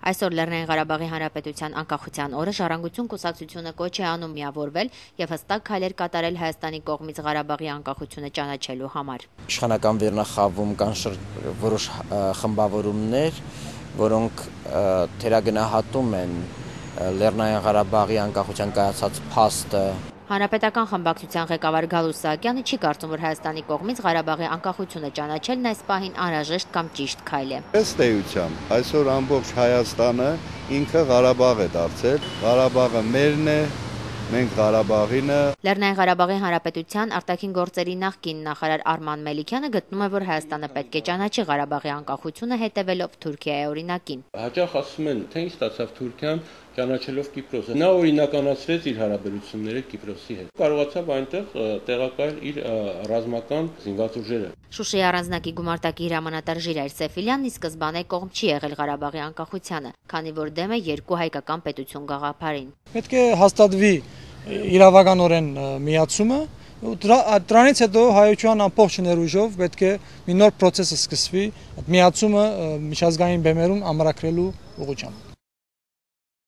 Այսօր Լեռնային Ղարաբաղի Հանրապետության անկախության օրը Ժառանգություն կուսակցությունը կոչ է անում միավորվել եւ հստակ քայլեր կատարել Հայաստանի կողմից Ղարաբաղի անկախությունը ճանաչելու համար։ Իշխանական վերնախավում կան որոշ խմբավորումներ, որոնք թերագնահատում են Լեռնային Ղարաբաղի անկախության կայացած փաստը։ Հանրապետական խմբակցության ղեկավար Գալուստ Սահակյանը չի կարծում, որ Հայաստանի կողմից Ղարաբաղի անկախությունը ճանաչելն այս պահին անհրաժեշտ կամ ճիշտ քայլ է։ Ըստ էության, այսօր ամբողջ Հայաստանը ինքը Ղարաբաղ է դարձել, Ղարաբաղը մերն է, մենք Ղարաբաղինը։ Լեռնային Ղարաբաղի Հանրապետության արտաքին գործերի նախկին նախարար Արման Մելիքյանը գտնում է, որ Հայաստանը պետք է ճանաչի Ղարաբաղի անկախությունը հետևելով Թուրքիայի օրինակին։ Հաճախ ասում են, թե ինչ ստացավ Թուրքիան ճանաչելով Կիպրոսը։ Նա օրինականացրեց իր հարաբերությունները Կիպրոսի հետ։ Կարողացավ այնտեղ տեղակայել իր ռազմական զինված ուժերը։ Շուշիի առանձնակի գումարտակի հրամանատար Ժիրայր Սեֆիլյանն ի սկզբանե կողմ չի եղել Ղարաբաղի անկախությանը, քանի որ դեմ է երկու հայկական պետություն գաղափարին։ Պետք է հաստատվի իրավականորեն միացումը, դրանից հետո հայության ամբողջ ներուժով պետք է մի նոր process սկսվի, միացումը միջազգային բեմերում ամրագրելու ուղղությամբ։